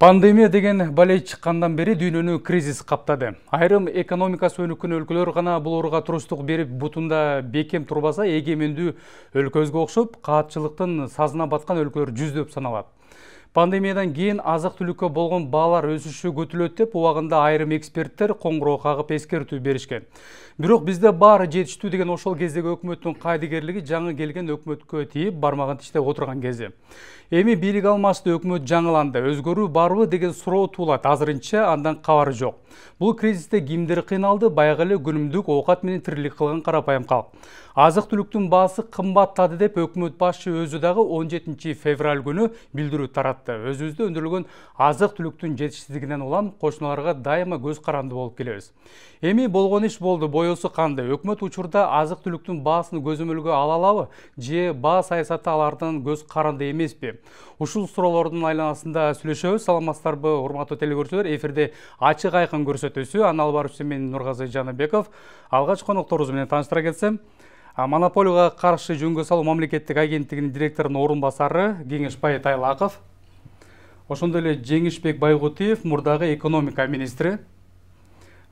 Пандемия деген балей чыккандан бери дүйнөнү кризис каптады. Айрым экономикасы өнүккөн өлкөлөр гана бул ооруга туруштук берип бутунда бекем турбаса, эгемендүү өлкөбүзгө окшоп каатчылыктын сазына баткан өлкөлөр жүздөп саналат. Пандемиядан кийин азык-түлүккө болгон баалар өсүшү күтүлөт деп убагында айрым эксперттер коңгуроо кагып эскертүү беришкен. Бирок бизде баары жетиштүү деген ошол кездеги өкмөттүн кайдыгерлиги жаңы келген өкмөткө тийип бармагын тиштеп отурган кези. Эми бийлик алмашты өкмөт жаңыланды, өзгөрүү барбы деген суроо туулат. Азырынча андан кабары жок. Бул кризисте кимдер кыйналды? Баягы эле күнүмдүк оокат менен тирилик кылган карапайым калк. Азык-түлүктүн баасы кымбаттады деп өкмөт башчы өзү дагы 17 февраль күнү билдирүү таратты. Өзүбүздө өндүрүлгөн азык-түлүктүн жетишсиздигинен улам кошуналарга дайыма көз каранды болуп келебиз. Эми болгон иш болду, боюсу кандай? Өкмөт учурда азык-түлүктүн баасын көзөмөлгө ала алабы? Же баа саясаты алардан көз каранды эмеспи? Ушул суроолордун айланасында сүйлөшөбүз. Саламатсыздарбы, урматтуу телекөрүүчүлөр? Эфирде ачык айкын көрсөтүүсү. Аны алып баруучу мен Нургазы Жаныбеков. Алгач конокторубуз менен тааныштыра кетсем, Монополияга каршы жөнгө салуу мамлекеттик агенттигинин директорунун орун басары Кеңешбай Тайлаков, ошондой эле Жеңишбек Байгутиев, мурдагы экономика министри,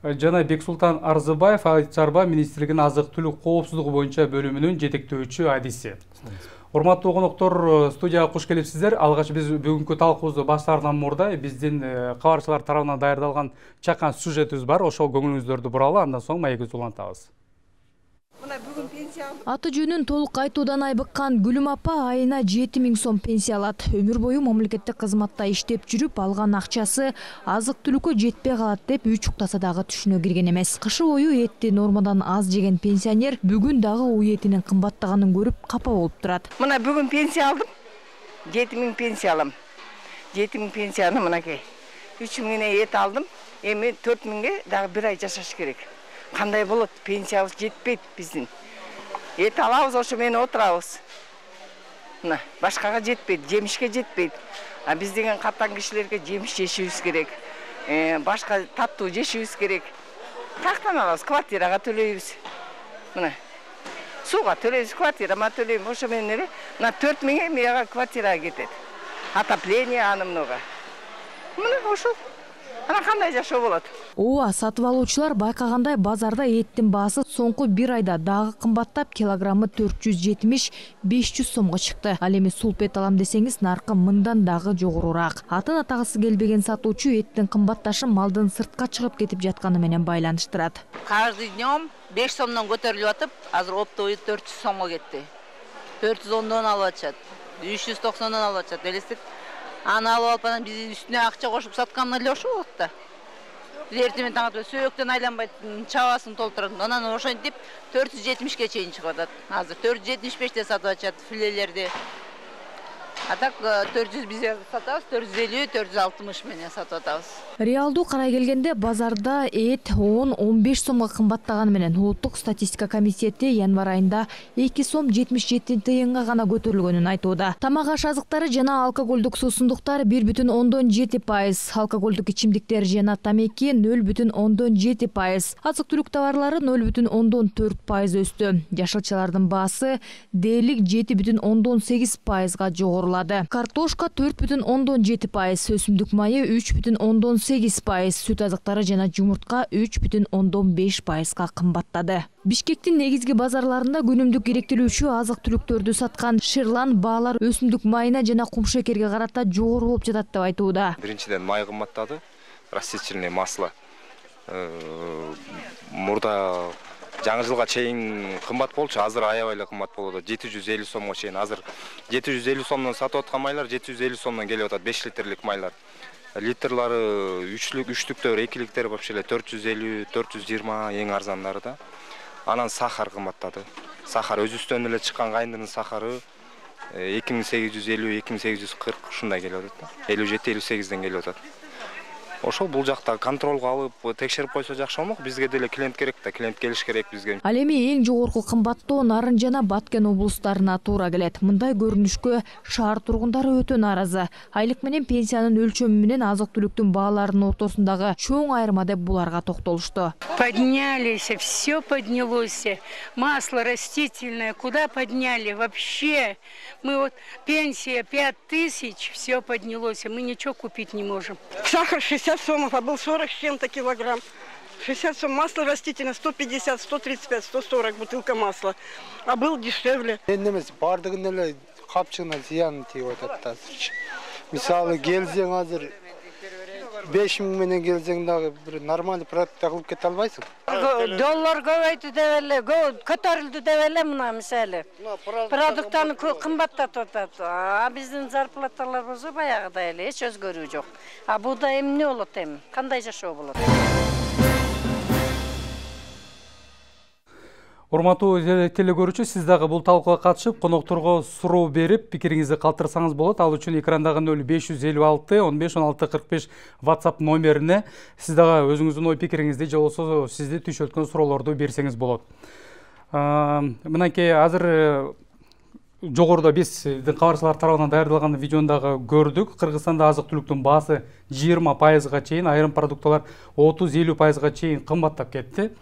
жана Бексултан Арзыбаев, Айыл чарба министрлигинин азык-түлүк коопсуздугу боюнча бөлүмүнүн жетектөөчү адиси. Урматтуу коноктор, студияга куш келипсиздер. Алгач биз бүгүнкү талкуубузду баштаардан мурда биздин кабарчылар тарабынан даярдалган чакан сюжетибиз бар. Ошол көңүлүңүздөрдү буралы, андан соң маегибизди улантабыз. Аты жөнүн толук айтуудан айбыккан Гүлүм апа айына 7000 сом пенсия алат. Өмүр бою мамлекеттик кызматта иштеп жүрүп, алган акчасы азык-түлүккө жетпей калат деп үй чуктаса дагы түшүнө кирген эмес. Кышы бою этти нормадан аз жеген пенсионер бүгүн дагы үй этинин кымбаттаганын көрүп капа болуп турат. Мына бүгүн пенсия алдым. 7000 пенсия алам. 7000 пенсияны мынакей 3000 эт алдым. Эми 4000ге дагы бир ай жашаш керек. Кандай болот? Пенсиябыз жетпейт биздин. Эт алабыз, ошо менен отурабыз. Мына, башкага жетпейт, жемишке жетпейт. А биз деген каттан кишилерге жемиш жешибиз керек. Башка таттуу жешибиз керек. Каяктан алабыз? Квартирага төлөйбүз. Мына. Сууга төлөйбүз, квартирама төлөйм. Ошо менен эле мына 4000 мага квартирага кетет. Отопление анымнога. Мына ошол. Ана кандай жашоо болот? Ооба, сатып алуучулар байкагандай базарда эттин баасы соңку бир айда дагы кымбаттап, килограммы 470-500 сомго чыкты. Ал эми сулп эт алам десеңиз, наркы мындан дагы жогорураак. Атын атагысы келбеген сатуучу эттин кымбатташын малдын сыртка чыгып кетип жатканы менен байланыштырат. Каждый днем 5 сомдон көтөрүлүп атып, азыр оптовый 400 сомго кетти. 410дон алып атышат, 390дон алып атышат. Элестет. Аны алып алып анан биздин үстүнө акча кошуп саткан эле ошол болот да. Биз эртең таң атып сөөктөн айланбайт, чабасын толтурат. Анан ошентип 470ге чейин чыгып атат. Азыр 475де сатып атышат филелерди. А так 400 биз сатабыз, 450-460 менен сатып атабыз. Реалдуу карай келгенде базарда эт 10-15 сомго кымбаттаганы менен улуттук статистика комитети январь айында 2 сом 77 тыйынга гана көтөрүлгөнүн айтууда. Тамак аш азыктары жана алкоголдук суусундуктар 1,7%, алкоголдук ичимдиктер жана тамеки 0,7%, азык-түлүк товарлары 0,4% өстү. Жашылчалардын баасы дээрлик 7,8%га жогорулады. Картошка 4,7%, өсүмдүк майы 3,8%, сүт азыктары жана жумуртка 3,5%га кымбаттады. Бишкектин негизги базарларында күнүмдүк керектелүүчү азык-түлүктөрдү саткан Ширлан баалар өсүмдүк майына жана кумшекерге карата жогору болуп жатат деп айтууда. Биринчиден май кымбаттады, растительное масло. Мурда жаңы жылга чейин кымбат болчу, азыр аябай эле кымбат болот. 750 сомго чейин. Азыр 750 сомдон сатып аткан майлар 750 сомдон келип атат, 5 литрлик майлар. Литрлары 3-лүктөр, 2-ликтер вообще эле 450-420 эң арзандары да. Анан сахар кымбаттады. Сахар өзүбүздөн эле чыккан кайындын сахары 2850-2840 ушундай келип атат. 57-58ден келип атат. ошол бул жакта контролго алып текшерип койсо жакшы болмок. Бизге деле клиент керек да, клиент келиш керек бизге. Ал эми эң жогорку кымбаттоо Нарын жана Баткен облустарына туура келет. Мындай көрүнүшкө шаар тургундары өтө нааразы. Айлык менен пенсиянын өлчөмү менен азык-түлүктүн бааларынын ортосундагы чоң айырма деп буларга токтолушту. Поднялись, все поднялось. Масло растительное, куда подняли вообще? Мы вот пенсия 5000, все поднялось, мы ничего купить не можем. Сахар 60 сомов, а был 40 с чем-то килограмм. 60 сом, масло растительное 150, 135, 140 бутылка масла, а был дешевле. Немес бардыгын эле капчыгына зыян тийип атат азырчы. Мисалы келсең азыр 5000 менен келсең дагы бир нормальный продукт кылып кете албайсың. Доллар көбөйтү деп эле, көтөрүлдү деп эле мына мисалы. Продукттарын кымбаттатып атат. А биздин зарплаталар болсо баягыдай эле эч өзгөрүү жок. А буда эмне болот эми? Кандай жашоо болот? Урматтуу телекөрүүчү, сиз дагы бул талкууга катышып, конокторго суроо берип, пикириңизди калтырсаңыз болот. Ал үчүн экрандагы 0556 15 16 45 WhatsApp номерине сиз дагы өзүңүздүн ой пикириңизди же болбосо сизди түшөткөн суроолорду берсеңиз болот. Мынакей азыр жогоруда биздин кабарчылар тарабынан даярдалган видеону дагы көрдүк. Кыргызстанда азык-түлүктүн баасы 20%га чейин, айрым продукталар 30-50%га чейин кымбаттап кетти.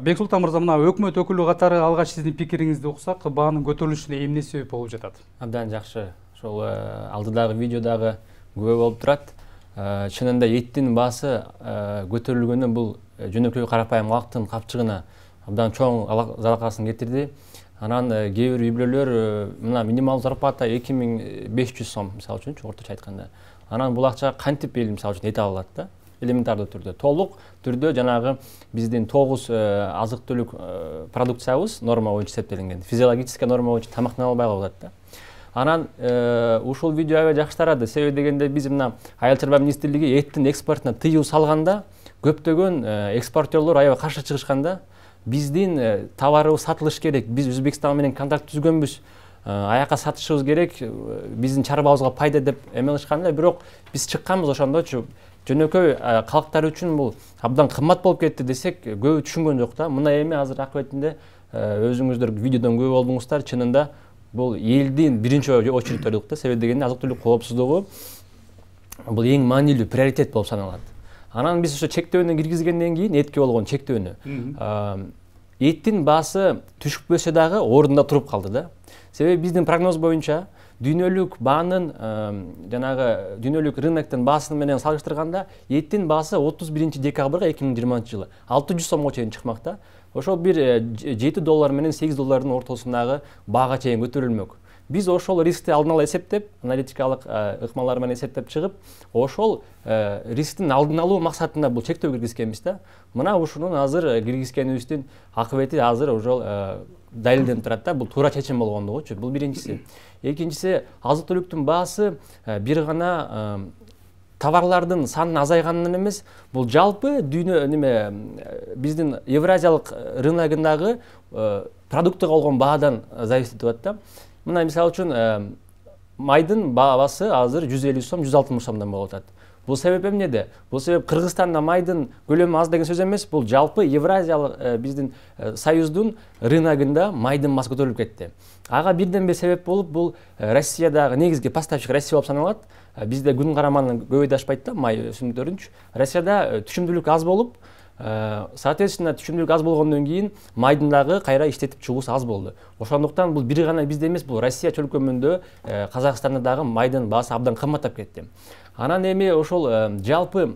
Бексултан мырза, мына өкмөт өкүлү катары алгач сиздин пикириңизди уксак, баанын көтөрүлүшүнө эмне себеп болуп жатат? Абдан жакшы. Ошол алдыдагы видеодагы күбө болуп турат. Чынында эттин баасы көтөрүлгөнү бул жөнөкөй карапайым калктын капчыгына абдан чоң залакасын кетирди. Анан кээ бир үй-бүлөлөр мына минималдуу зарплата 2500 сом, мисалы үчүн орточо айтканда. Анан бул акчага кантип эл мисалы үчүн эт ала алат да? Элементардуу түрдө, толук түрдө жанагы биздин 9 азык-түлүк продукциябыз норма боюнча эсептелинген. Физиологический норма боюнча тамактана албай калат да. Анан ушул видео аябай жакшы тарады. Себеби дегенде биз мына Айыл чарба министрлиги эттин экспортуна тыюу салганда көптөгөн экспортерлор аябай каршы чыгышканда, биздин товарыбыз сатылыш керек, биз Өзбекстан менен контракт түзгөнбүз, аяка сатышыбыз керек, биздин чарбабызга пайда деп эмелишканда, бирок биз чыкканбыз ошондочу. Жөнөкөй калктар үчүн бул абдан кымбат болуп кетти десек, көбү түшүнгөн жок да. Мына эми азыр акыбетинде өзүңүздөр видеодон көбү болдуңуздар, чынында бул элдин биринчи очередь турдук да. Себеби дегенде азык-түлүк коопсуздугу бул эң маанилүү приоритет болуп саналат. Анан биз ошо чектөөнү киргизгенден кийин, этке болгон чектөөнү, эттин баасы түшпөсө дагы ордунда туруп калды да. Себеби биздин прогноз боюнча дүйнөлүк баанын жанагы дүйнөлүк рыноктун баасын менен салыштырганда эттин баасы 31 декабрга 2020 жылы 600 сомго чейин чыкмак да. Ошол бир $7 менен $8 ортосундагы баага чейин көтөрүлмөк. Биз ошол рискти алдын ала эсептеп, аналитикалык ыкмалар менен эсептеп чыгып, ошол рисктин алдын алуу максатында бул чектөө киргизгенбиз да. Мына ушунун азыр киргизгенибиздин акыбети азыр ошол далилденип турат да. Бул туура чечим болгондугучу. Бул биринчиси. Экинчиси, азык-түлүктүн баасы бир гана товарлардын санын азайганынан эмес, бул жалпы дүйнө биздин Евразиялык рыногундагы продуктуга болгон баадан зависит этип атат да. Мына мисалы үчүн майдын баасы азыр 150 сом, 160 сомдон болуп атат. Бул себеп эмнеде? Бул себеп Кыргызстанда майдын көлөмү аз деген сөз эмес, бул жалпы Евразиялык биздин союздун рыногунда майдын баасы көтөрүлүп кетти. Ага бирден бир себеп болуп, бул Россиядагы негизги поставщик Россия болуп саналат. Бизде күн караманын көбөйдү ашпайт да, май өсүмдүктөрүнчү. Россияда түшүмдүүлүк аз болуп, соответственно түшүмдүүлүк аз болгондон кийин майдын дагы кайра иштетип чыгуусу аз болду. Ошондуктан бул бир гана бизде эмес, бул Россия чөлкөмүндө Казакстанда дагы майдын баасы абдан кымбаттап кетти. Анан эми ошол жалпы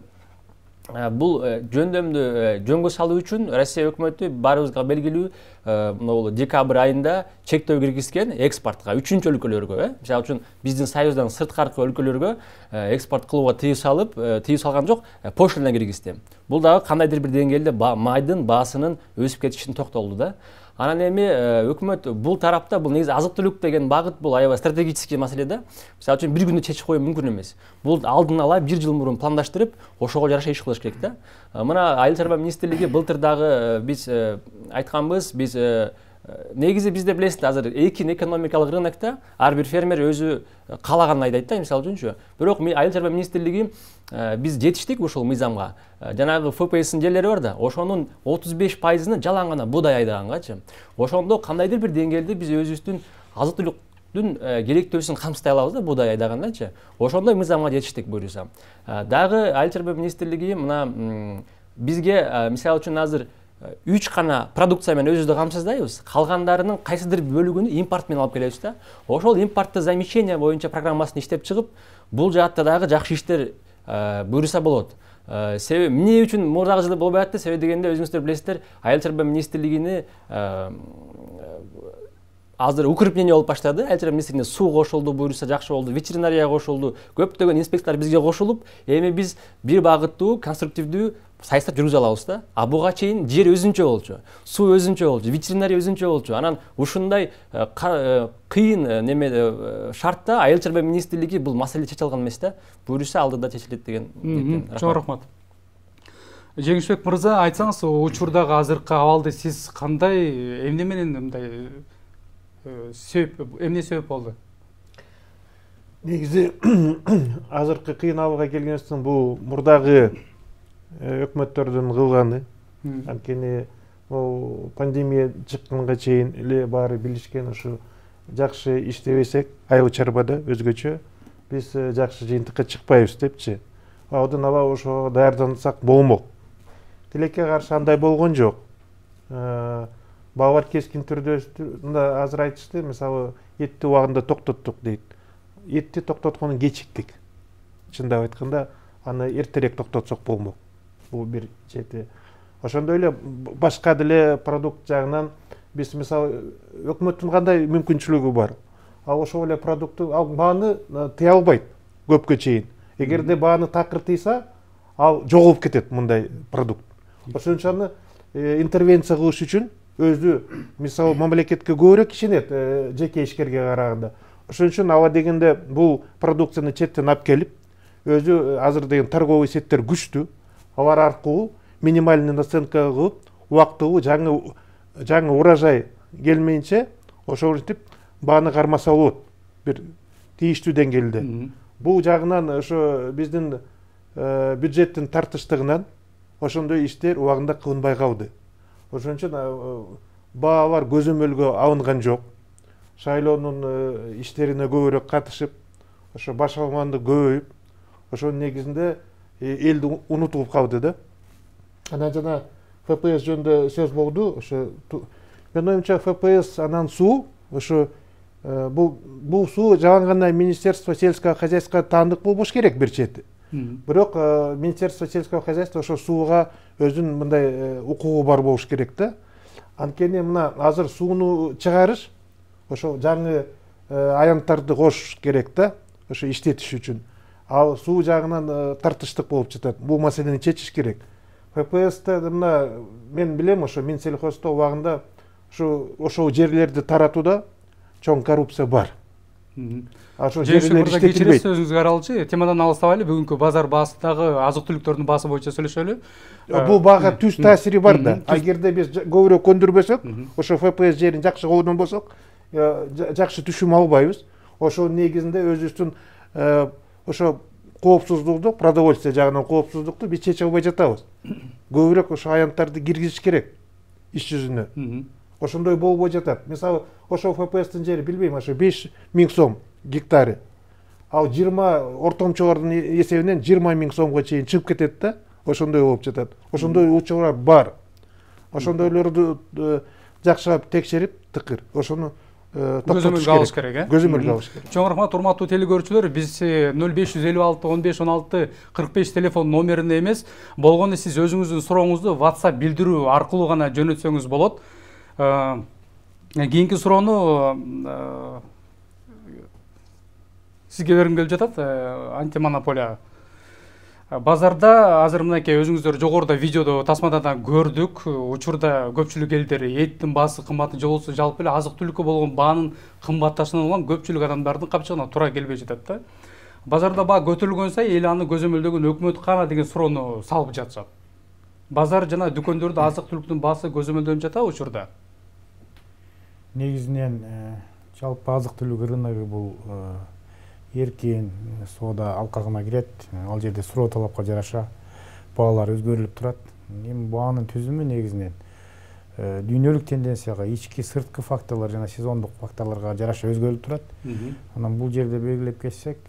бул жөндөмдү жөнгө салуу үчүн Россия өкмөтү баарыбызга белгилүү могул декабрь айында чектөө киргизген экспортко, үчүнчү өлкөлөргө, мисалы үчүн биздин союздан сырткаркы өлкөлөргө экспорт кылууга тыюу салган жок, пошлина киргизди. Бул дагы кандайдыр бир деңгээлде майдын баасынын өсүп кетишин токтолду да. Анан эми өкмөт бул тарапта, бул негизи азык-түлүк деген багыт бул аябай стратегический маселе да. Мисалы үчүн бир күндө чечип коюу мүмкүн эмес. Бул алдын ала бир жыл мурун пландаштырып, ошого жараша иш кылыш керек да. Мына Айыл чарба министрлиги былтыр дагы биз айтканбыз, биз негизи бизде билесиз азыр эркин экономикалык рынокто ар бир фермер өзү каалаганын айдайт да, мисалы үчүнчү. Бирок Айыл чарба министрлиги биз жетиштик ушул мыйзамга. Жанагы ФПСтин жерлери бар да, ошонун 35%-ны жалаң гана буудай айдагангачы. Ошондо кандайдыр бир деңгээлде биз өзүбүздүн азык түлүктүн керектөөсүн камсытай алабыз да, буудай айдагандачы. Ошондой мыйзамга жетиштик буюрса. Дагы Айыл чарба министрлиги мына бизге мисалы үчүн азыр 3 гана продукция менен өзүбүздү камсыздайбыз. Калгандарынын кайсыдыр бөлүгүн импорт менен алып келебиз да. Ошол импортто замещение боюнча программасын иштеп чыгып, бул жаатта дагы жакшы иштер буюрса болот. Себеби эмне үчүн мурдагы жылы болбой атты? Себеби дегенде өзүңүздөр билесиздер, Айыл чарба министрлигини азыр укрепление болуп баштады. Айыл чарба министрлигине суу кошулду, буюрса жакшы болду, ветеринария кошулду, көптөгөн инспекторлор бизге кошулуп, эми биз бир багыттуу, конструктивдүү сайыстар жүргүзө алабыз да. А буга чейин жер өзүнчө болчу, суу өзүнчө болчу, ветеринария өзүнчө болчу. Анан ушундай кыйын неме шартта Айыл чарба министрлиги бул маселе чече алган эмес да. Буюрса алдыда чечилет деген. Чоң рахмат. Жеңишбек мырза, айтсаңыз, учурдагы азыркы абалды сиз кандай, эмне менен мындай эмне себеп болду? Негизи азыркы кыйын абалга келгенибизден бул мурдагы өкмөттөрдүн кылганы. Анткени пандемия чыкканга чейин эле баары билишкен, ушу жакшы иштебесек айыл чарбада өзгөчө биз жакшы жыйынтыкка чыкпайбыз депчи. Одан ала ошого даярдансак болмок. Тилекке каршы андай болгон жок. Балдар кескин түрдө азыр айтышты, мисалы этти убагында токтоттук дейт. Этти токтотконун кечиктик. Чындап айтканда, аны эртерээк токтотсок болмок. Бул бир чети. Ошондой эле башка деле продукт жагынан биз мисалы өкмөттүн кандай мүмкүнчүлүгү бар. Ал ошол эле продуктту бааны тыя албайт көпкө чейин. Эгерде бааны такыр тыйса, ал жоголуп кетет мындай продукт. Ошон үчүн аны интервенция кылыш үчүн өзү мисалы мамлекетке көбүрөөк ишенет жеке ишкерге караганда. Ошон үчүн ала дегенде бул продукцияны четтен алып келип, өзү азыр деген торговый сеттер күчтүү. Алар аркылуу минимальный наценка кылып, убактылуу жаңы урожай келмейинче ошентип бааны кармаса болот. Бир тийиштүү деңгээлде. Бул жагынан ошо биздин бюджеттин тартыштыгынан ошондой иштер убагында кылынбай калды. Ошон үчүн баалар көзөмөлгө алынган жок. Шайлоонун иштерине көбүрөөк катышып, ошо баш алганды көбөйүп, ошонун негизинде элди унутулуп калды да. Анан жана ФПС жөнүндө сөз болду. Ошо менин оюмча ФПС анан суу, ошо бул суу жалаң гана Министерство сельского хозяйства таандык болбош керек бир чети. Бирок Министерство сельского хозяйства ошо сууга өзүнүн мындай укугу бар болуш керек да. Анткени мына азыр сууну чыгарыш ошо жаңы аянттарды кошуш керек да, ошо иштетиш үчүн. Ал суу жагынан тартыштык болуп жатат. Бул маселени чечиш керек. ФПСте мына мен билем, ошо Минсельхозто убагында ошол жерлерди таратууда чоң коррупция бар. Ошо жерлер иштетилбейт. Сөзүңүзгө аралчы, темадан алыстабайлы, бүгүнкү базар баасындагы азык түлүктөрдүн баасы боюнча сөйлөшөлү. Бул баага түз таасири бар да. Эгерде биз көбүрөөк көндүрбөсөк, ошо ФПС жерин жакшы колдонбосок, жакшы түшүм албайбыз. Ошонун негизинде өзүбүздүн ошо коопсуздукту, продовольствие жагынан коопсуздукту биз чече албай жатабыз. Көбүрөөк ошо аянттарды киргизиш керек иш жүзүнө. Ошондой болбой жатат. Мисалы, ошо ФПСтин жери билбейм, ошо 5000 сом гектары. Ал 20 ортомчолордун эсебинен 20 000 сомго чейин чыгып кетет да. Ошондой болуп жатат. Ошондой учурлар бар. Ошондойлорду жакшылап текшерип, тыкыр. Ошону көзөмөлгө алыш керек, Көзөмөлгө алыш керек. Чоң рахмат, урматтуу телекөрүүчүлөр. Биз 0556 15 16 45 телефон номерине эмес, болгону сиз өзүңүздүн сурооңузду WhatsApp билдирүү аркылуу гана жөнөтсөңүз болот. Кийинки суроону сизге бергим келип жатат. Антимонополия базарда азыр мынакей өзүңүздөр жогоруда видеодо тасмадан көрдүк. Учурда көпчүлүк элдер эттин баасы кымбатын же болбосо жалпы эле азык түлүккө болгон баанын кымбатташынан улам көпчүлүк адамдардын капчыгына туура келбей жатат да. Базарда баа көтөрүлгөн сайын эл аны көзөмөлдөгөн өкмөт кана деген суроону салып жатышат. Базар жана дүкөндөрдө азык түлүктүн баасы көзөмөлдөнүп жатабы учурда? негизинен жалпы азык түлүк рыногу бул эркин соода алкагына кирет. Ал жерде суроо талапка жараша баалар өзгөрүлүп турат. Эми баанын түзүмү негизинен дүйнөлүк тенденцияга, ички сырткы факторлор жана сезондук факторлорго жараша өзгөрүлүп турат. Анан бул жерде белгилеп кетсек,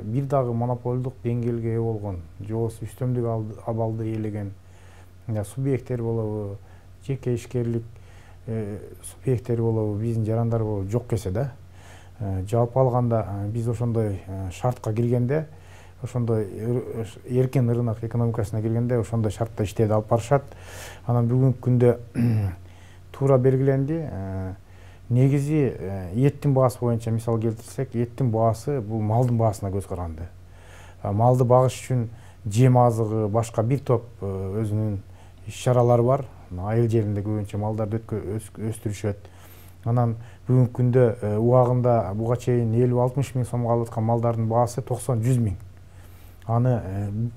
бир дагы монополдук деңгээлге ээ болгон, же болбосо үстөмдүк абалды ээлеген субъекттер болобу, жеке ишкерлик субъекттери болобу, биздин жарандар болобу жок келсе да, жалпы алганда биз ошондой шартка киргенде, ошондой эркин рынок экономикасына киргенде ошондой шартта иштерди алып барышат. Анан бүгүнкү күндө туура белгиленди. Негизи эттин баасы боюнча мисал келтирсек, эттин баасы бул малдын баасына көз каранды. Малды багыш үчүн жем азыгы, башка бир топ өзүнүн иш-чаралары бар. Айыл жеринде көбүнчө малдарды өстүрүшөт. Анан бүгүнкү күндө убагында буга чейин 50-60 миң сомго алып аткан малдардын баасы 90-100 миң. Аны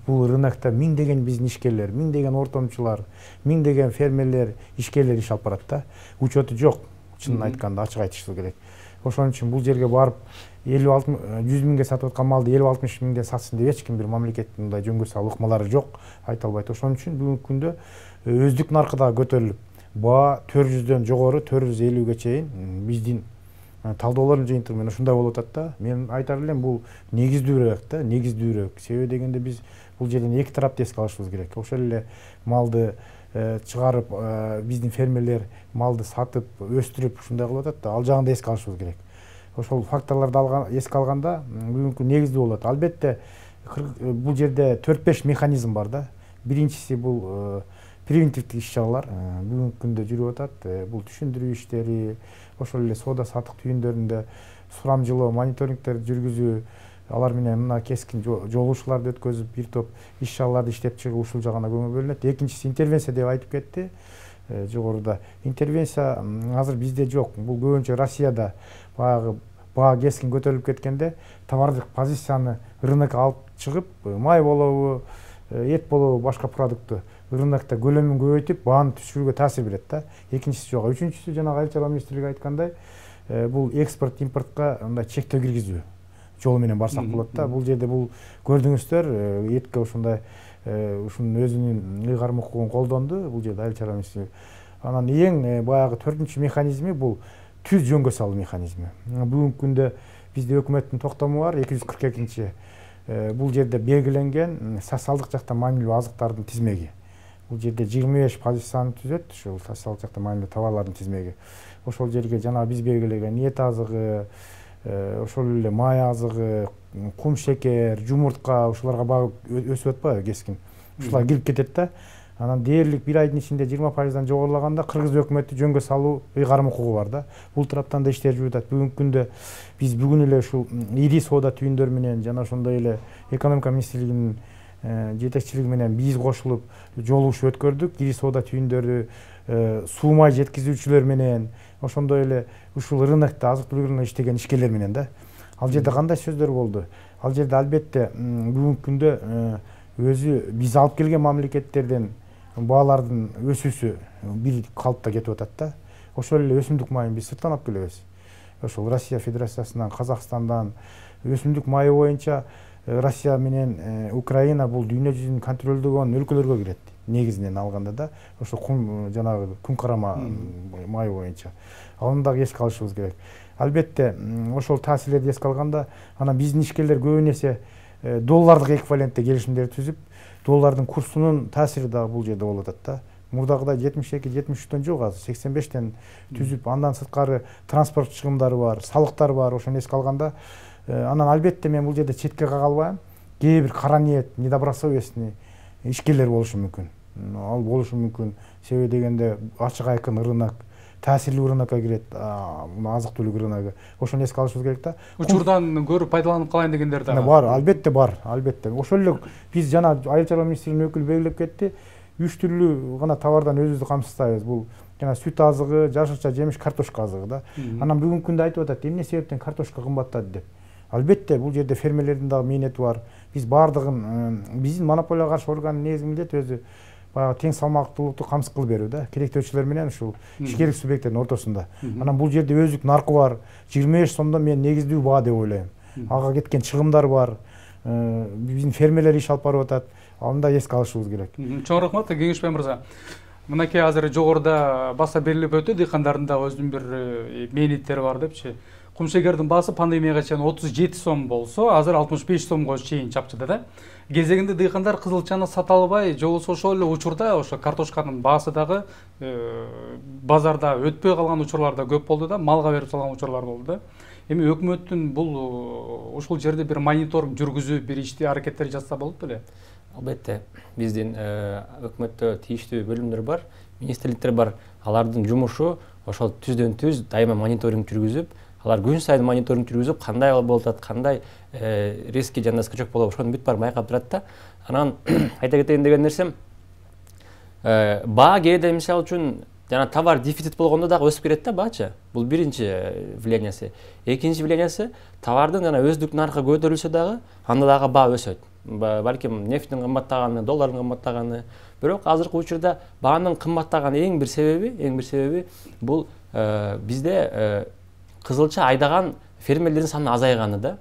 бул рынокто миңдеген биздин ишкерлер, миңдеген ортомчулар, миңдеген фермерлер, ишкерлер иш алып барат да. Учету жок, чынын айтканда, ачык айтышыбыз керек. Ошон үчүн бул жерге барып 50-100 миңге сатып аткан малды 50-60 миңге сатсын деп эч ким бир мамлекеттин мындай жөнгө салуу ыкмалары жок, айта албайт. Ошон үчүн бүгүнкү күндө өздүк наркы дагы көтөрүлүп, баа 400дөн жогору 450ге чейин биздин талдоолордун жыйынтыгы менен ушундай болуп атат да. Мен айтар элем, бул негиздүүрөөк да, негиздүүрөөк. Себеби дегенде биз бул жерден эки тарапты эске алышыбыз керек. Ошол эле малды чыгарып, биздин фермерлер малды сатып, өстүрүп ушундай кылып атат да, ал жагын да эске алышыбыз керек. Ошол факторлорду эске алганда бүгүнкү негиздүү болот. Албетте бул жерде 4-5 механизм бар да. Биринчиси бул превентивдик иш-чаралар бүгүнкү күндө жүрүп атат. Бул түшүндүрүү иштери, ошол эле соода сатык түйүндөрүндө сурамжылоо, мониторингдерди жүргүзүү, алар менен мына кескин жолугушууларды өткөзүп, бир топ иш-чараларды иштеп чыгып, ушул жагына көңүл бөлүнөт. Экинчиси интервенция деп айтып кетти жогоруда. Интервенция азыр бизде жок. Бул көбүнчө Россияда баягы баа кескин көтөрүлүп кеткенде товардык позицияны рынокко алып чыгып, май болобу, эт болобу, башка продуктту рынокто көлөмүн көбөйтүп, бааны түшүрүүгө таасир берет да. Экинчиси жок. Үчүнчүсү жанагы Айыл чарба министрлиги айткандай, бул экспорт импортко мындай чектөө киргизүү жолу менен барсак болот да. Бул жерде бул көрдүңүздөр, этке ушундай ушунун өзүнүн ыйгарым укугун колдонду бул жерде Айыл чарба министрлиги. Анан эң баягы 4-үнчү механизми бул түз жөнгө салуу механизми. Бүгүнкү күндө бизде өкмөттүн токтому бар, 242-чи. Бул жерде белгиленген социалдык жактан маанилүү азыктардын тизмеги. Бул жерде 25 позицияны түзөт, ушул социалдык жактан маанилүү товарлардын тизмеги. Ошол жерге жана биз белгилеген эт азыгы, ошол эле май азыгы, кум шекер, жумуртка, ушуларга баа өсүп атпайбы кескин. Ушулар кирип кетет да. Анан дээрлик бир айдын ичинде 20%дан жогорулаганда Кыргыз өкмөтү жөнгө салуу ыйгарым укугу бар да. Бул тараптан да иштер жүрүп атат. Бүгүнкү күндө биз бүгүн эле ушул ири соода түйүндөр менен жана ошондой эле экономика министрлигинин жетекчилиги менен биз кошулуп жолугушуу өткөрдүк. Ири соода түйүндөрү суу май жеткизүүчүлөр менен, ошондой эле ушул рынокто азык-түлүк рыногунда иштеген ишкерлер менен да. Ал жерде кандай сөздөр болду? Ал жерде албетте бүгүнкү күндө өзү биз алып келген мамлекеттерден баалардын өсүүсү бир калыпта кетип атат да. Ошол эле өсүмдүк майын биз сырттан алып келебиз. Ошол Россия Федерациясынан, Казакстандан өсүмдүк майы боюнча Россия менен Украина бул дүйнө жүзүн контролдогон өлкөлөргө кирет. Негизинен алганда да, ошо жанагы күн карама май боюнча. Аны дагы эске алышыбыз керек. Албетте ошол таасирлерди эске алганда, анан биздин ишкерлер көбүн эсе доллардык эквивалентте келишимдер түзүп, доллардын курсунун таасири дагы бул жерде болуп атат да. Мурдагыдай 72-73төн жок, азыр 85тен түзүп, андан сырткары транспорт чыгымдары бар, салыктар бар, ошону эске алганда, анан албетте мен бул жерде четке кага албайм. Кээ бир кара ниет, недобросовестный ишкерлер болушу мүмкүн. Ал болушу мүмкүн. Себеби дегенде ачык айкын рынок, таасирлүү рынокко кирет, азык-түлүк рыногу. Ошону эске алышыбыз керек да. Учурдан көрүп пайдаланып калайын дегендер да бар. Албетте бар, албетте. Ошол эле биз жана Айыл чарба министрлигинин өкүлү белгилеп кетти. 3 түрлүү гана товардан өзүбүздү камсыздайбыз. Бул жана сүт азыгы, жашылча жемиш, картошка азыгы да. Анан бүгүнкү күндө айтып атат, эмне себептен картошка кымбаттады деп. Албетте бул жерде фермерлердин дагы мээнети бар. Биз баардыгын биздин монополияга каршы органдын негизги милдети өзү баягы тең салмактуулукту камсыз кылып берүү да, керектөөчүлөр менен ушул ишкерлик субъекттердин ортосунда. Анан бул жерде өздүк наркы бар, 25 сомдон мен негиздүү баа деп ойлойм. Ага кеткен чыгымдар бар, биздин фермерлер иш алып барып атат, аны да эске алышыбыз керек. Чоң рахмат, Кеңешбай мырза. Мынакей азыр жогоруда баса берилип өтө, дыйкандардын да өзүнүн бир мээнеттери бар депчи. Кумшекердин баасы пандемияга чейин 37 сом болсо, азыр 65 сомго чейин чапчыда да. Кезегинде дыйкандар кызылчаны сата албай, же болбосо ошол эле учурда ошо картошканын баасы дагы базарда өтпөй калган учурлар да көп болду да, малга берип салган учурлар болду да. Эми өкмөттүн бул ушул жерде бир мониторинг жүргүзүп, бир ишти аракеттер жатса болот беле? Албетте, биздин өкмөттө тийиштүү бөлүмдөр бар, министрликтер бар. Алардын жумушу ошол түздөн түз дайыма мониторинг жүргүзүп, алар күн сайын мониторинг жүргүзүп, кандай болуп атат, кандай риски жана скачок болуп, ошону бүт бар байкап турат да. Анан айта кетейин деген нерсем, баа кээде мисалы үчүн жана товар дефицит болгондо дагы өсүп кетет да баачы. Бул биринчи влияниясы. Экинчи влияниясы, товардын жана өздүк наркы көтөрүлсө дагы, анда дагы баа өсөт. Балким нефттин кымбаттаганы, доллардын кымбаттаганы. Бирок азыркы учурда баанын кымбаттаган эң бир себеби бул бизде кызылча айдаган фермерлердин саны азайганы да.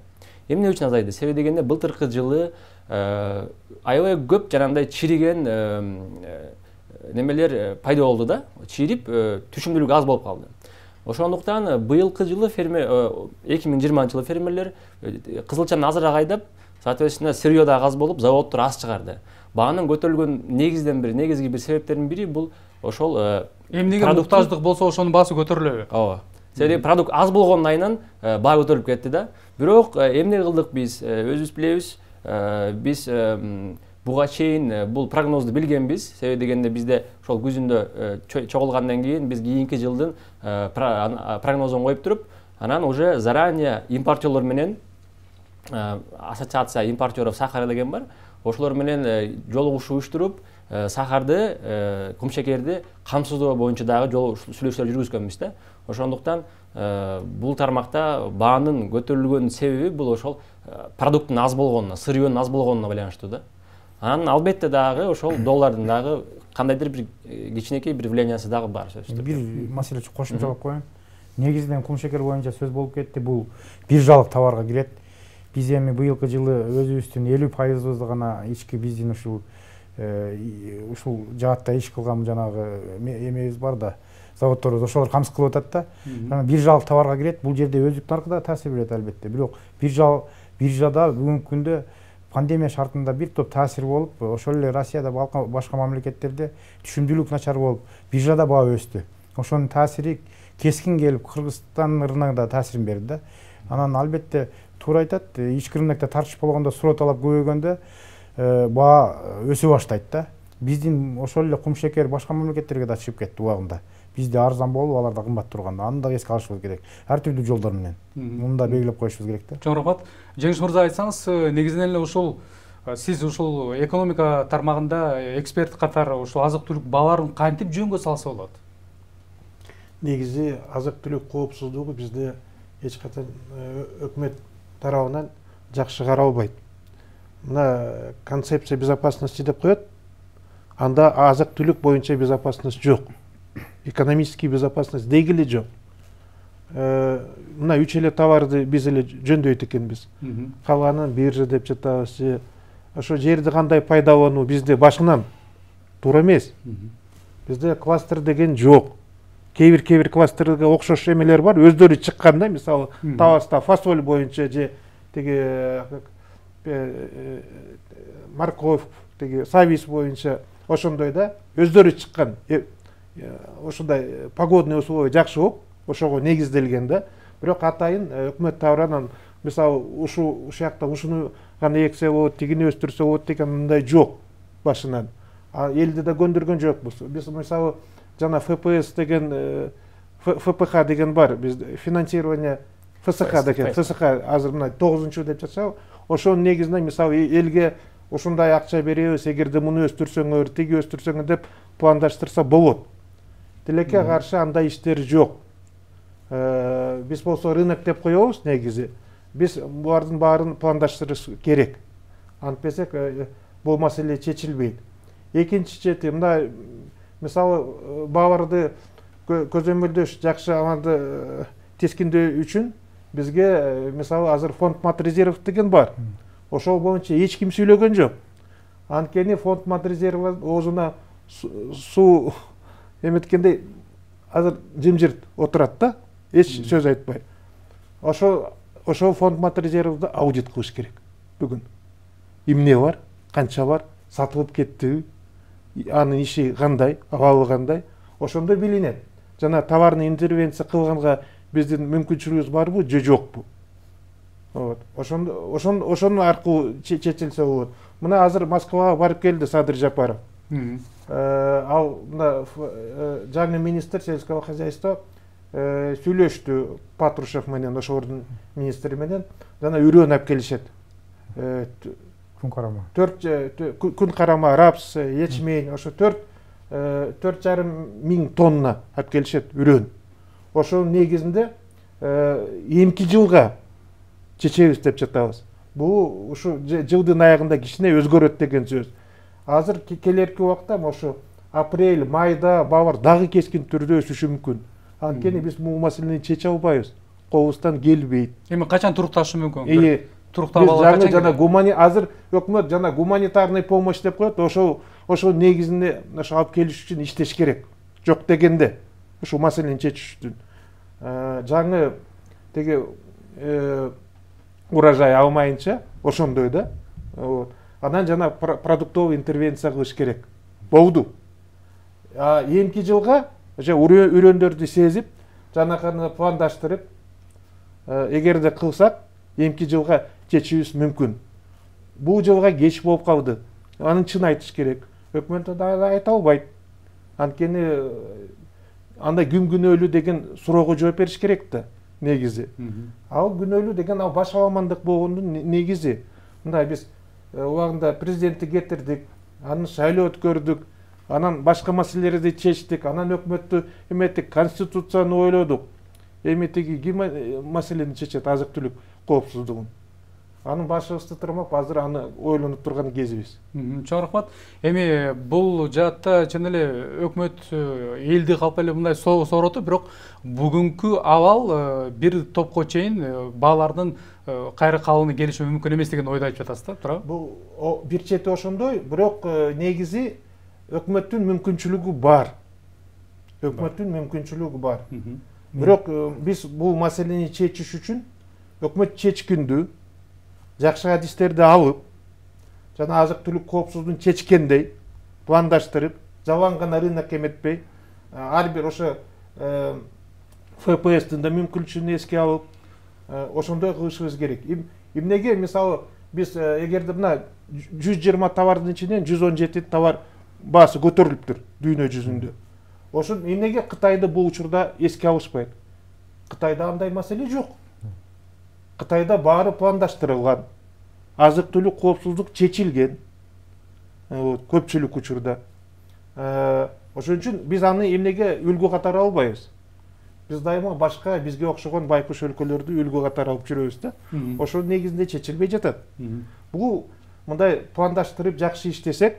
Эмне үчүн азайды? Себеби дегенде былтыркы жылы аябай көп жанагындай чириген немелер пайда болду да. Чирип түшүмдүүлүк аз болуп калды. Ошондуктан быйылкы жылы 2020 жылы фермерлер кызылчаны азыраак айдап, соответственно, сырьё да аз болуп, заводдор аз чыгарды. Баанын көтөрүлгөн негизги бир себептердин бири бул ошол эмнеге муктаждык болсо ошонун баасы көтөрүлөбү? Ооба. Себеби продукт аз болгондун айынан баа көтөрүлүп кетти да. Бирок эмне кылдык биз? Өзүбүз билебиз. Биз буга чейин бул прогнозду билгенбиз. Себеби дегенде бизде ошол күзүндө чогулгандан кийин биз кийинки жылдын прогнозун коюп туруп, анан уже заранее импортерлор менен ассоциация импортеров сахара деген бар. Ошолор менен жолугушуу уюштуруп, сахарды, кумшекерди камсыздоо боюнча дагы сүйлөшүүлөр жүргүзгөнбүз да. Ошондуктан бул тармакта баанын көтөрүлгөн себеби бул ошол продукттун аз болгонуна, сырьёнун аз болгонуна байланыштуу да. Анан албетте дагы ошол доллардын дагы кандайдыр бир кичинекей бир влияниясы дагы бар сөзсүз. Бир маселе кошумчалап коеюн. Негизинен кумшекер боюнча сөз болуп кетти, бул биржалык товарга кирет. Биз эми быйылкы жылы өзүбүздүн 50% гана ички биздин ушул жаатта иш кылган жанагы эмебиз бар да, заводдорубуз ошолор камсыз кылып атат да. Анан биржалык товарга кирет, бул жерде өздүк наркы да таасир берет албетте. Бирок биржада бүгүнкү күндө пандемия шартында бир топ таасир болуп, ошол эле Россияда башка мамлекеттерде түшүмдүүлүк начар болуп, биржада баа өстү. Ошонун таасири кескин келип, Кыргызстан рыногуна да таасирин берди да. Анан албетте туура айтат, ички рынокто тартыш болгондо, суроо талап көбөйгөндө баа өсө баштайт да. Биздин ошол эле кумшекер башка мамлекеттерге да чыгып кетти убагында. Бизде арзан болуп, аларда кымбат турганда, аны да эске алышыбыз керек. Ар түрдүү жолдор менен. Муну да белгилеп коюшубуз керек да. Чоң рахмат. Жеңиш мырза, айтсаңыз, негизинен эле ушул сиз ушул экономика тармагында эксперт катары ушул азык-түлүк бааларын кантип жөнгө салса болот? Негизи азык-түлүк коопсуздугу бизде эч качан өкмөт тарабынан жакшы каралбайт. Мына концепция безопасности деп коет. Анда азык-түлүк боюнча безопасность жок. Экономический безопасность дегиле жок. Мына 3 эле товарды биз эле жөндөйт экенбиз. Калганын биржа деп жатабыз. Ошо жерде кандай пайдалануу бизде башынан туура эмес. Бизде кластер деген жок. Кээ-бир кластерге окшош эмелер бар, өздөрү чыккан да, мисалы, Таваста фасоль боюнча же теги морковь, теги савис боюнча ошондой да, өздөрү чыккан. Ошондой погодный условия жакшы болуп, ошого негизделген да. Бирок атайын өкмөт тарабынан мисалы ушул жакта ушуну гана эксе болот, тигини өстүрсө болот деген мындай жок башынан. Элди да көндүргөн жокпуз. Биз мисалы жана ФПС деген ФПХ деген бар, биз финансирование ФСХ деген, ФСХ азыр мына 9-чу деп жатсак, ошонун негизинен мисалы элге ушундай акча беребиз, эгерде муну өстүрсөңөр, тиги өстүрсөңөр деп пландаштырса болот. Тилекке каршы андай иштер жок. Биз болсо рынок деп коебуз негизи. Биз булардын баарын пландаштырыш керек. Антпесек бул маселе чечилбейт. экинчи чети мындай мисалы бааларды көзөмөлдөш жакшы аманды тескиндөө үчүн бизге мисалы азыр фонд мат резерв деген бар. Ошол боюнча эч ким сүйлөгөн жок. Анткени фонд мат резерв оозуна суу эметкенде азыр жымжырт отурат да, эч сөз айтпай. Ошол фонд мат резервди аудит кылыш керек бүгүн. Эмне бар, канча бар, сатылып кеттиби, анын иши кандай, абалы кандай, ошондо билинет. Жана товарный интервенция кылганга биздин мүмкүнчүлүгүбүз барбы же жокпу? Ошонун аркылуу чечилсе болот. Мына азыр Москвага барып келди Садыр Жапаров. Ал мына жаңы министр сельского хозяйства сүйлөштү Патрушев менен, ошолордун министри менен, жана үрөн алып келишет. Күн карама. Күн карама, рапс, ячмень, ошо 4,5 миң тонна алып келишет үрөн. Ошонун негизинде эмки жылга чечебиз деп жатабыз. Бул ушу жылдын аягында кичине өзгөрөт деген сөз. Азыр келерки убакта ошо апрель, майда баалар дагы кескин түрдө өсүшү мүмкүн. Анткени биз бул маселени чече албайбыз. Колубуздан келбейт. Эми качан турукташы мүмкүн? Туруктап жана азыр өкмөт жана гуманитарный помощь деп коет. Ошол негизинде ошо алып келиш үчүн иштеш керек. Жок дегенде ушул маселени чечиш үчүн жаңы теги урожай алмайынча ошондой да. Анан жана продуктовый интервенция кылыш керек. Болду. Эмки жылга үрөндөрдү сезип, жанаканы пландаштырып, эгерде кылсак, эмки жылга чечишибиз мүмкүн. Бул жылга кеч болуп калды. Аны чын айтыш керек. Өкмөт да айта албайт. Анткени анда ким күнөөлүү деген суроого жооп бериш керек да негизи. Ал күнөөлүү деген ал баш аламандык болгондун негизи. Мындай биз убагында президентти кетирдик, анын шайлоо өткөрдүк, анан башка маселелерди чечтик, анан өкмөттү эметтик, конституцияны ойлодук. Эми тиги ким маселени чечет, азык-түлүк коопсуздугун. Анын башыбызды тырмап, азыр аны ойлонуп турган кезибиз. Чоң рахмат. Эми бул жаатта чын эле өкмөт элди калп эле мындай соороту, бирок бүгүнкү абал бир топко чейин баалардын кайра калууну келиши мүмкүн эмес деген ойду айтып жатасыз да, туурабы? Бул бир чети ошондой, бирок негизи өкмөттүн мүмкүнчүлүгү бар. Бирок биз бул маселени чечиш үчүн өкмөт чечкиндүү, жакшы адистерди алып, жана азык-түлүк коопсуздугун чечкендей пландаштырып, жалаң гана рынок эметпей, ар бир ошо ФПСтин да мүмкүнчүлүгүн эске алып, ошондой кылышыбыз керек. Эмнеге мисалы биз эгерде мына 120 товардын ичинен 117 товар баасы көтөрүлүптүр дүйнө жүзүндө. Ошон эмнеге Кытайды бул учурда эске алышпайт? Кытайда андай маселе жок. Кытайда баары пландаштырылган, азык-түлүк коопсуздук чечилген. Көпчүлүк учурда. Ошон үчүн биз аны эмнеге үлгү катары албайбыз? Биз дайыма башка бизге окшогон байкуш өлкөлөрдү үлгү катары алып жүрөбүз да. Ошол негизинде чечилбей жатат. Бул мындай пландаштырып жакшы иштесек,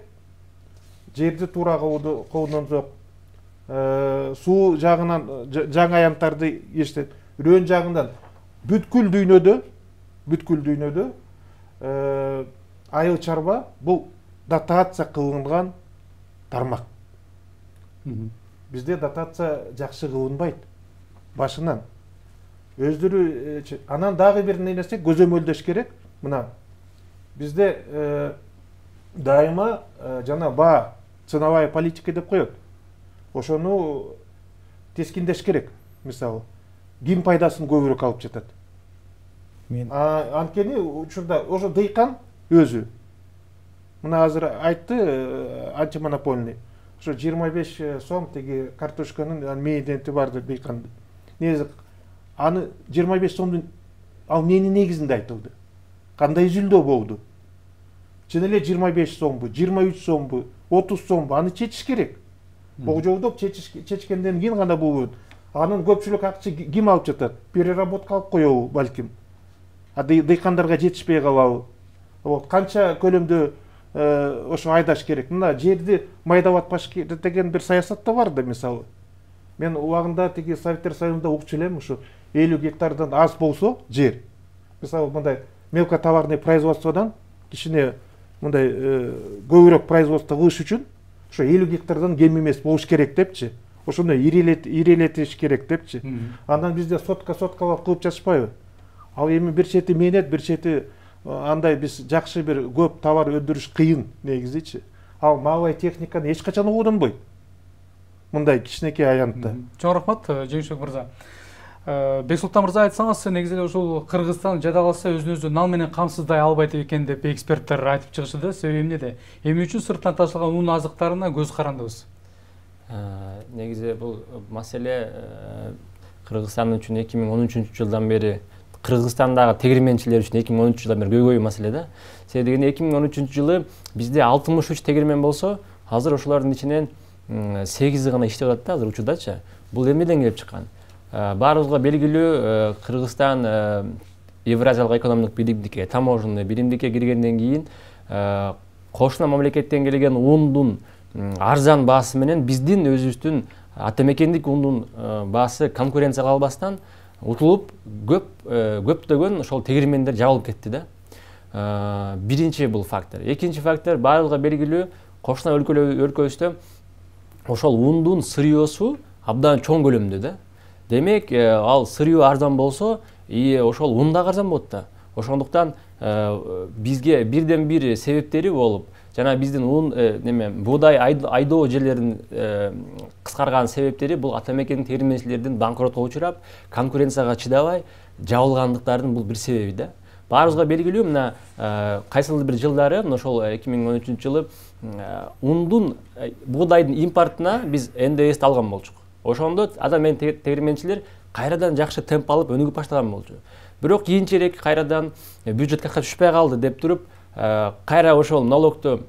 жерди туура колдонсок, суу жагынан жаңы аянттарды иштеп, үрөн жагынан бүткүл дүйнөдө айыл чарба бул дотация кылынган тармак. Бизде дотация жакшы кылынбайт башынан. Өздөрү анан дагы бир нерсе көзөмөлдөш керек. Мына бизде дайыма жана баа ценовая политика деп коет. Ошону тескиндеш керек. Мисалы, ким пайдасын көбүрөөк алып жатат? Анткени учурда ошо дыйкан өзү. Мына азыр айтты антимонопольный. Ошо 25 сом теги картошканын мейденти барды дыйканды. Негизи аны 25 сомдун ал эмненин негизинде айтылды? Кандай жүлдө болду? Чын эле 25 сомбу, 23 сомбу, 30 сомбу аны чечиш керек. Богжолдоп чечкенден кийин гана бул анын көпчүлүк акча ким алып жатат? Переработка алып коебу балким. Дыйкандарга жетишпей калабы? Канча көлөмдө ошо айдаш керек. Мына жерди майдап керек деген бир саясат да бар да, мисалы. Мен убагында тиги Советтер Союзунда укчу элем, ушу 50 гектардан аз болсо жер. Мисалы мындай мелкотоварный производстводан кичине мындай көбүрөөк производство кылыш үчүн ошо 50 гектардан кем эмес болуш керек депчи. Ошону ирелетиш керек депчи. Андан бизде соткалап кылып жатышпайбы? Ал эми бир чети мээнет, бир чети андай биз жакшы бир көп товар өндүрүш кыйын негизичи. Ал малый техниканы эч качан колдонбойт. Мындай кичинекей аянтта. Чоң рахмат, Жеңишбек мырза. Бексултан мырза, айтсаңыз, негизи ушул Кыргызстан жадаласа өзүн нал менен камсыздай албайт экен деп эксперттер айтып чыгышты. Себеби эмнеде? Эми үчүн сырттан ташылган ун азыктарына көз карандыбыз. Негизи бул маселе Кыргызстан үчүн 2013-жылдан бери, Кыргызстандагы тегирменчилер үчүн 2013-жылдан бери көйгөй маселе да. Себеби дегенде 2013-жылы бизде 63 тегирмен болсо, азыр ошолордун ичинен 8 гана иштеп атат да, азыр учурдачы. Бул эмнеден келип чыккан? Баарыбызга белгилүү, Кыргызстан Евразиялык экономикалык биримдикке, таможенный биримдикке киргенден кийин кошуна мамлекеттен келген ундун арзан баасы менен биздин өзүбүздүн атамекендик ундун баасы конкуренцияга албастан утулуп көптөгөн ошол тегирмендер жабылып кетти да. Биринчи бул фактор. Экинчи фактор, баарыбызга белгилүү, кошуна өлкөбүздө ошол ундун сырьёсу абдан чоң көлөмдө да. Демек, ал сырьё арзан болсо, ошол ун да арзан болот да. Ошондуктан бизге бирден бир себептери болуп, жана биздин ун буудай айдоо жерлеринин кыскарган себептери бул атамекендик тегирменчилердин банкротко учурап, конкуренцияга чыдабай жабылгандыктардын бул бир себеби да. Баарыбызга белгилүү, мына кайсыл бир жылдары, ошол 2013-жылы ундун буудайдын импортуна биз НДСти алган болчук. Ошондо атамекендик тегирменчилер кайрадан жакшы темп алып өнүгүп баштаган болчу. Бирок кийинчерээк кайрадан бюджетке түшпөй калды деп туруп, кайра ошол налогту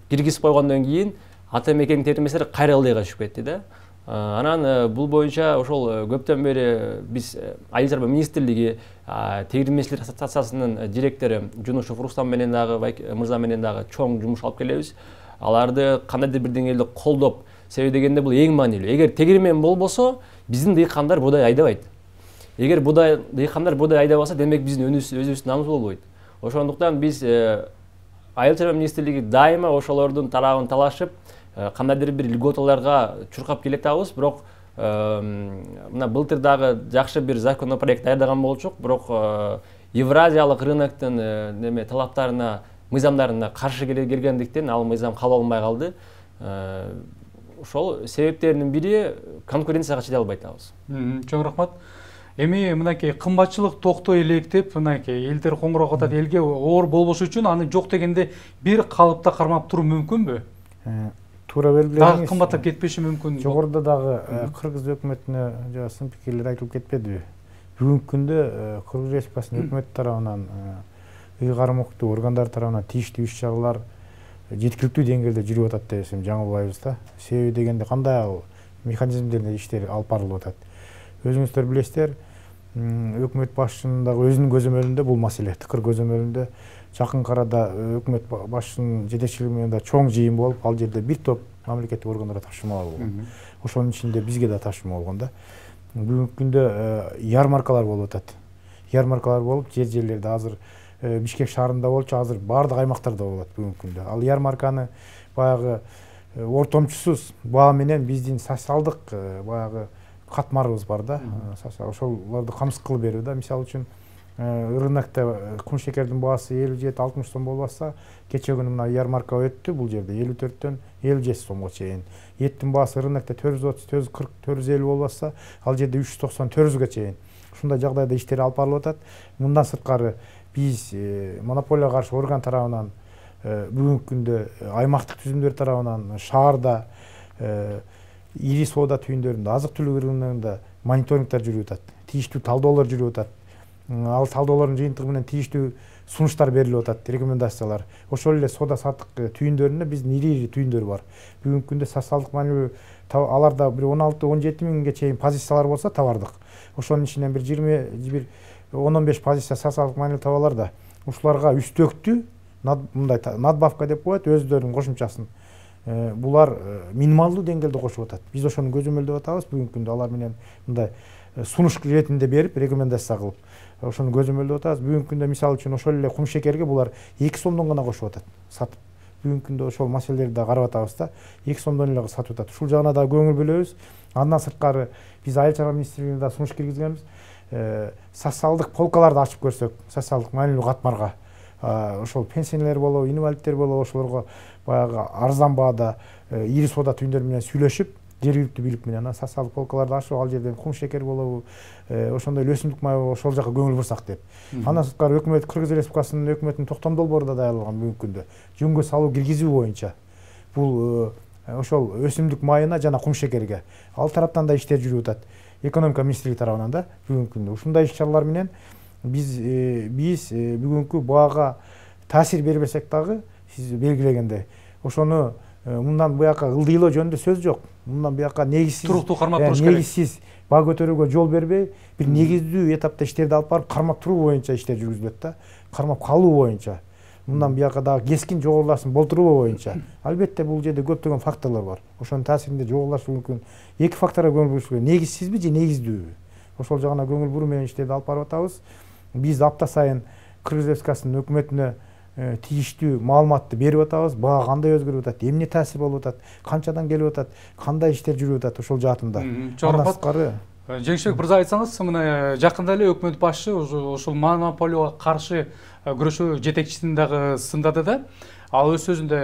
киргизип койгондон кийин атамекендик тегирменчилер кайра ылдыйга түшүп кетти да. Анан бул боюнча ошол көптөн бери биз Айыл чарба министрлиги, тегирменчилер ассоциациясынын директору Жунушев Рустам менен дагы, мырза менен дагы чоң жумуш алып келебиз. Аларды кандайдыр бир деңгээлде колдоп, себеби дегенде бул эң маанилүү. Эгер тегирмен болбосо, биздин дыйкандар буудай айдабайт. Эгер дыйкандар буудай айдабаса, демек биздин өзүбүздүн намыбыз болбойт. Ошондуктан биз Айыл чарба министрлиги дайыма ошолордун тарабын талашып, кандайдыр бир льготаларга чуркап келатабыз, бирок мына былтыр дагы жакшы бир законопроект даярдаган болчук, бирок Евразиялык рыноктун талаптарына, мыйзамдарына каршы келгендиктен ал мыйзам кабыл алынбай калды. Ошол себептердин бири конкуренцияга чыдай албай атабыз. Чоң рахмат. Эми мынакей кымбатчылык токтой элек деп, мынакей элдер коңгуроо атат, элге оор болбош үчүн аны жок дегенде бир калыпта кармап туруу мүмкүнбү? Туура белгиледиңиз. Дагы кымбаттап кетпеши мүмкүн. Жогоруда дагы Кыргыз өкмөтүнө жана сын пикирлер айтылып кетпедиби? Бүгүнкү күндө Кыргыз Республикасынын өкмөтү тарабынан, ыйгарым органдар тарабынан тийиштүү иш-чаралар жеткиликтүү деңгээлде жүрүп атат десем жаңылбайбыз да. Себеби дегенде кандай механизмдерде иштер алып барылып атат. Өзүңүздөр билесиздер, өкмөт башчынын дагы өзүнүн көзөмөлүндө бул маселе, тыкыр көзөмөлүндө жакын арада өкмөт башчынын жетекчилиги менен да чоң жыйын болуп, ал жерде бир топ мамлекеттик органдарга тапшырмалар болгон. Ошонун ичинде бизге да тапшырма болгон да. Бүгүнкү күндө ярмаркалар болуп атат. Ярмаркалар болуп, жерлерде азыр Бишкек шаарында болчу, азыр баардык аймактарда болот бүгүнкү күндө. Ал ярмарканы баягы ортомчусуз баа менен биздин социалдык баягы катмарыбыз бар да. Ошолорду камсыз кылып берүү да. Мисалы үчүн рынокто кум шекердин баасы 57-60 сом болбаса, кече күнү мына ярмарка өттү, бул жерде 54төн 57 сомго чейин. Еттин баасы рынокто 430, 440, 450 болбаса, ал жерде 390, 400га чейин. Ушундай жагдайда иштер алып барылып атат. Мындан сырткары биз монополияга каршы орган тарабынан бүгүнкү күндө аймактык түзүмдөр тарабынан шаарда ири соода түйүндөрүндө, азык-түлүк рыногунда мониторингдер жүрүп атат, тийиштүү талдоолор жүрүп атат. Ал талдоолордун жыйынтыгы менен тийиштүү сунуштар берилип атат, рекомендациялар. Ошол эле соода саттык түйүндөрүндө биздин ири түйүндөр бар. Бүгүнкү күндө социалдык маанилүү аларда бир 16-17 миңге чейин позициялар болсо товардык. Ошонун ичинен бир 10-15 позиция социалдык маанилүү товарлар да. Ушуларга үстөктүү мындай надбавка деп коет, өздөрүнүн кошумчасын. Булар минималдуу деңгээлде кошуп атат. Биз ошону көзөмөлдөп атабыз. Бүгүнкү күндө алар менен мындай сунуш иретинде берип, рекомендация кылып, ошону көзөмөлдөп атабыз. Бүгүнкү күндө мисалы үчүн ошол эле кум шекерге булар 2 сомдон гана кошуп атат, сатып. Бүгүнкү күндө ошол маселелерди да карап атабыз да, 2 сомдон эле сатып атат. Ушул жагына да көңүл бөлөбүз. Андан сырткары биз Айыл чарба министрлигине да сунуш киргизгенбиз. Социалдык полкаларды ачып көрсөк, социалдык маанилүү катмарга ошол пенсионерлер болобу, инвалидтер болобу, ошолорго баягы арзан баада ири соода түйүндөр менен сүйлөшүп, жергиликтүү бийлик менен социалдык полкаларды ачып, ал жерден кум шекер болобу, ошондой эле өсүмдүк май болобу, ошол жака көңүл бурсак деп. Андан сырткары өкмөт Кыргыз Республикасынын өкмөтүнүн токтом долбоору да даярдалган бүгүнкү күндө. Жөнгө салуу киргизүү боюнча бул ошол өсүмдүк майына жана кум шекерге ал тараптан да иштер жүрүп атат. Экономика министрлиги тарабынан да бүгүнкү күндө ушундай иш-чаралар менен биз бүгүнкү баага таасир бербесек дагы, сиз белгилегендей, ошону мындан буяка ылдыйлоо жөнүндө сөз жок. Мындан буяка негизсиз туруктуу кармап туруш керек. Негизсиз баа көтөрүүгө жол бербей, бир негиздүү этапта иштерди алып барып, кармап туруу боюнча иштер жүргүзүлөт да. Кармап калуу боюнча. Мындан буяка дагы кескин жогоруласын болтуруу боюнча. Албетте бул жерде көптөгөн факторлор бар. Ошонун таасиринде жогорулаш мүмкүн. Эки факторго көңүл буруш керек. Негизсизби же негиздүүбү? Ошол жагына көңүл буруу менен иштерди алып барып атабыз. Биз апта сайын Кыргыз Республикасынын өкмөтүнө тийиштүү маалыматты берип атабыз. Баа кандай өзгөрүп атат, эмне таасир болуп атат, канчадан келип атат, кандай иштер жүрүп атат ошол жаатында. Жеңишбек мырза, айтсаңыз, мына жакында эле өкмөт башчы ошол монополияга каршы күрөшүү жетекчисин дагы сындады да. Ал өз сөзүндө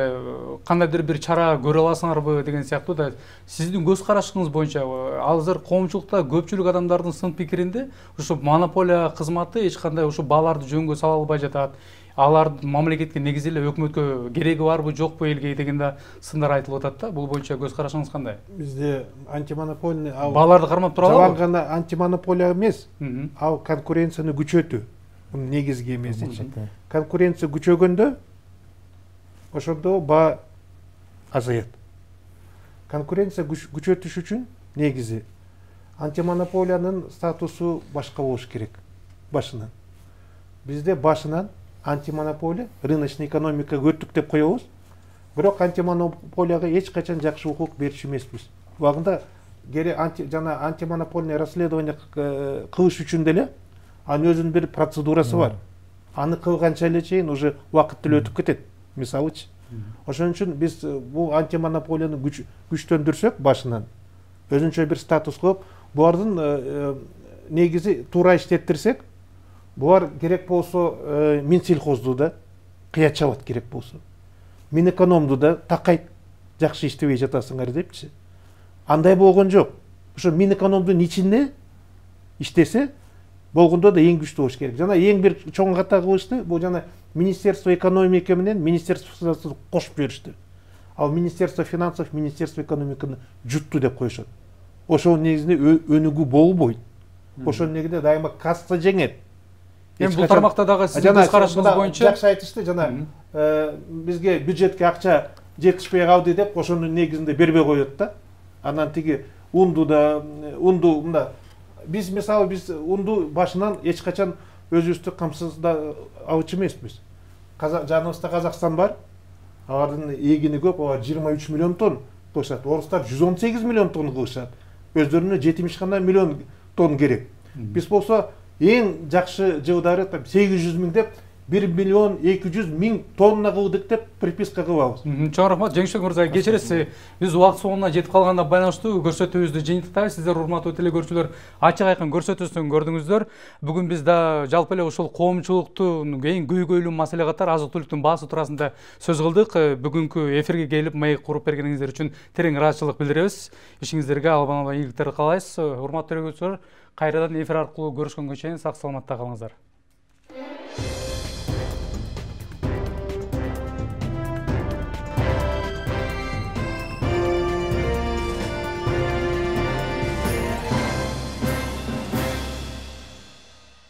кандайдыр бир чара көрө аласыңарбы деген сыяктуу да. Сиздин көз карашыңыз боюнча азыр коомчулукта көпчүлүк адамдардын сын пикиринде ушу монополия кызматы эч кандай ушу бааларды жөнгө сала албай жатат. Алар мамлекетке негизи эле өкмөткө кереги барбы жокпу элге деген да сындар айтылып атат да. Бул боюнча көз карашыңыз кандай? Бизде антимонопольный бааларды кармап тура алабы? Жалаң гана антимонополия эмес, ал конкуренцияны күчөтүү. Бунун негизги эмеси. Конкуренция күчөгөндө ошондо баа азаят. Конкуренция күчөтүш үчүн негизи антимонополиянын статусу башка болуш керек башынан. Бизде башынан антимонополия, рыночный экономика өттүк деп коебуз. Бирок антимонополияга эч качан жакшы укук берчү эмеспиз. Убагында жана антимонопольный расследование кылыш үчүн деле анын өзүнүн бир процедурасы бар. Аны кылганча эле чейин уже убакыт деле өтүп кетет. Мисалычы. Ошон үчүн биз бул антимонополияны күчтөндүрсөк башынан, өзүнчө бир статус коюп, булардын негизи туура иштеттирсек, булар керек болсо Минсельхозду да кыя чабат керек болсо. Минэкономду да такайт, жакшы иштебей жатасыңар депчи. Андай болгон жок. Ошо Минэкономдун ичинде иштесе, болгондо да эң күчтүү болуш керек. Жана эң бир чоң ката кылышты, бул жана Министерство экономики менен Министерство финансов кошуп жиберишти. Ал Министерство финансов, Министерство экономиканы жутту деп коюшат. Ошонун негизинде өнүгүү болбойт. Ошонун негизинде дайыма касса жеңет. Эми бул тармакта дагы сиздин көз карашыңыз боюнча жакшы айтышты, жана бизге бюджетке акча жетишпей калды деп ошонун негизинде бербей коет да. Анан тиги унду мында биз мисалы унду башынан эч качан өзүбүздү камсыздап алчу эмеспиз. Жаныбызда Казакстан бар. Алардын эгини көп, алар 23 миллион тонн кылышат. Орустар 118 миллион тонн кылышат. Өздөрүнө 70 гана миллион тонн керек. Биз болсо эң жакшы жылдары 800 миң деп 1 миллион 200 миң тонна кылдык деп приписка кылабыз. Чоң рахмат, Жеңишбек мырза, кечиресиз. Биз убакыт соңуна жетип калганда байланыштуу көрсөтүүбүздү жыйынтыктайбыз. Сиздер урматтуу телекөрүүчүлөр, ачык айкын көрсөтүүсүн көрдүңүздөр. Бүгүн биз да жалпы эле ушул коомчулуктун эң көйгөйлүү маселе катары азык-түлүктүн баасы туурасында сөз кылдык. Бүгүнкү эфирге келип маек куруп бергениңиздер үчүн терең ыраазычылык билдиребиз. Ишиңиздерге албан ийгиликтер каалайбыз. Урматтуу телекөрүүчүлөр, кайрадан эфир аркылуу көрүшкөнгө чейин сак саламатта калыңыздар.